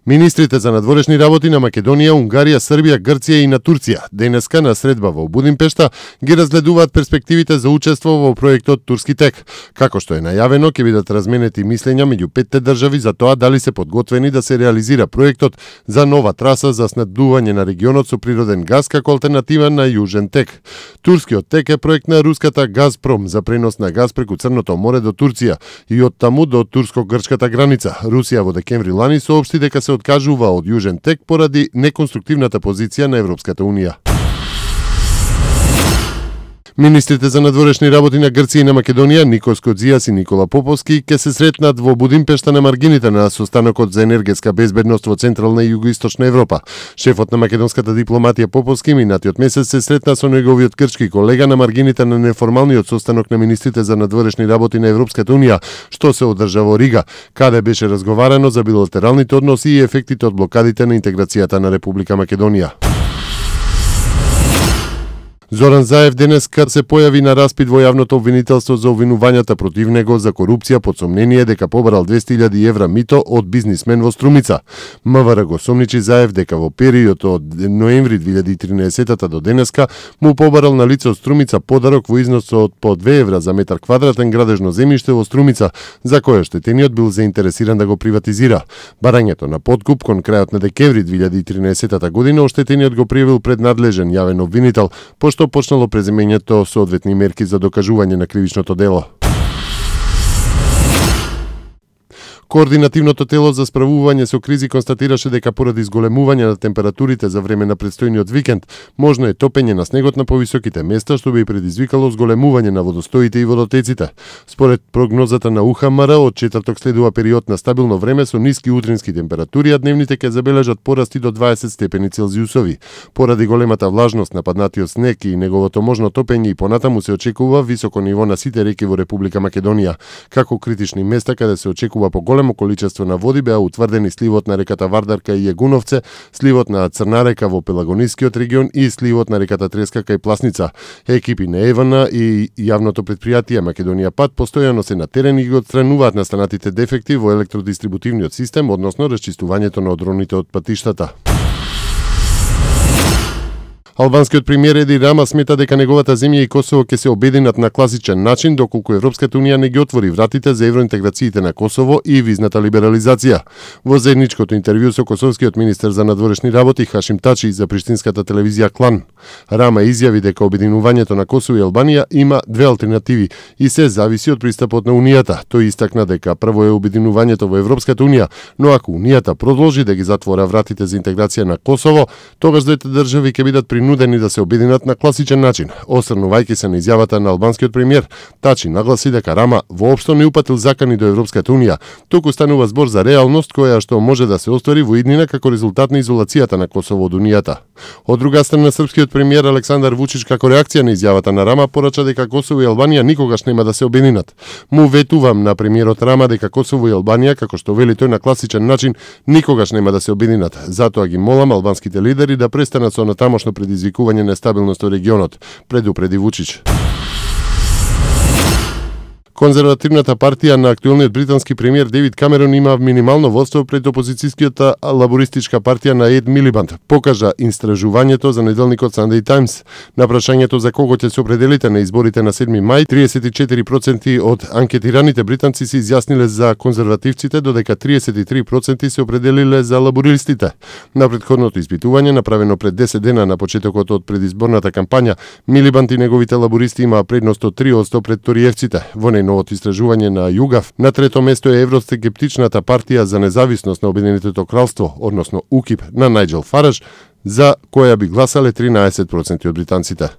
Министрите за надворешни работи на Македонија, Унгарија, Србија, Грција и на Турција денеска на средба во Будимпешта ги разгледуваат перспективите за учество во проектот Турски тек. Како што е најавено, ќе бидат разменети мислења меѓу петте држави за тоа дали се подготвени да се реализира проектот за нова траса за снабдување на регионот со природен газ како алтернатива на Јужен тек. Турскиот тек е проект на руската Газпром за пренос на газ преку Црното море до Турција и од таму до турско-грчката граница. Русија во декември лани соопшти дека се откажува од Јужен тек поради неконструктивната позиција на Европската унија. Министрите за надворешни работи на Грција и на Македонија, Никос Кодзијас и Никола Поповски, ќе се сретнат во Будимпешта на маргините на состанокот за енергетска безбедност во Централна и Југоисточна Европа. Шефот на македонската дипломатија Поповски минатиот месец се сретна со неговиот грчки колега на маргините на неформалниот состанок на министрите за надворешни работи на Европската унија, што се одржа во Рига, каде беше разговарано за билатералните односи и ефектите од блокадите на интеграцијата на Република Македонија. Зоран Заев денеска се појави на распит во јавното обвинителство за обвинувањата против него за корупција под сомнение дека побарал 200.000 евра мито од бизнисмен во Струмица. МВР го сомничи Заев дека во период од ноември 2013 до денеска му побарал на лице од Струмица подарок во износ од по 2 евра за метар квадратен градежно земјиште во Струмица, за кое оштетениот бил заинтересиран да го приватизира. Барањето на подкуп кон крајот на декември 2013 година оштетениот го пријавил пред надлежен јавен обвинител, пошто почнало преземењето соодветни мерки за докажување на кривичното дело. Координативното тело за справување со кризи констатираше дека поради зголемување на температурите за време на претстојниот викенд, можно е топење на снегот на повисоките места, што би предизвикало зголемување на водостоите и водотеците. Според прогнозата на УХМР, од четврток следува период на стабилно време со ниски утрински температури, а дневните ќе забележат порасти до 20 степени Целзиусови. Поради големата влажност на паднатиот снег и неговото можно топење и понатаму се очекува високо ниво на сите реки во Република Македонија. Како критични места каде се очекува поголемо количество на води беа утврдени сливот на реката Вардарка и Јегуновце, сливот на Црна река во Пелагонискиот регион и сливот на реката Треска кај Пласница. Екипи на ЕВН и јавното претпријатие Македонија Пат постојано се на терен и ги отстрануваат настанатите дефекти во електродистрибутивниот систем, односно расчистувањето на одроните од патиштата. Албанскиот премиер Еди Рама смета дека неговата земја и Косово ќе се обединат на класичен начин доколку Европската унија не ги отвори вратите за евроинтеграциите на Косово и визната либерализација. Во заедничкото интервју со косовскиот министер за надворешни работи Хашим Тачи за приштинската телевизија Клан, Рама изјави дека обединувањето на Косово и Албанија има две алтернативи и се зависи од пристапот на Унијата. Тој истакна дека прво е обединувањето во Европската унија, но ако Унијата продолжи да ги затвора вратите за интеграција на Косово, тогаш двете држави ќе бидат принудени да се обединат на класичен начин. Осрнувајќи се на изјавата на албанскиот премиер, Тачи нагласи дека Рама воопшто не упатил закани до Европската унија, туку станува збор за реалност која што може да се оствари во иднина како резултат на изолацијата на Косово од Унијата. Од друга страна, српскиот премиер Александар Вучич како реакција на изјавата на Рама порача дека Косово и Албанија никогаш нема да се обединат. Му ветувам на премиерот Рама дека Косово и Албанија, како што вели тој на класичен начин, никогаш нема да се обединат. Затоа ги молам албанските лидери да престанат со натамошно предизвикување на стабилност во регионот, предупреди Вучич. Конзервативната партија на актуелниот британски премиер Девид Камерон има минимално водство пред опозицијската лабористичка партија на Ед Милибанд, покажа истражувањето за неделникот Sunday Times. На прашањето за кого ќе се определите на изборите на 7 мај, 34% од анкетираните британци се изјасниле за конзервативците, додека 33% се определиле за лабористите. На претходното испитување, направено пред 10 дена на почетокот од предизборната кампања, Милибанд и неговите лабористи имаа предност од 3% пред ториевците. Во новото истражување на ЮГАВ, на трето место е евроскептичната партија за независност на Обединетото кралство, односно УКИП, на Најджел Фараж, за која би гласале 13% од британците.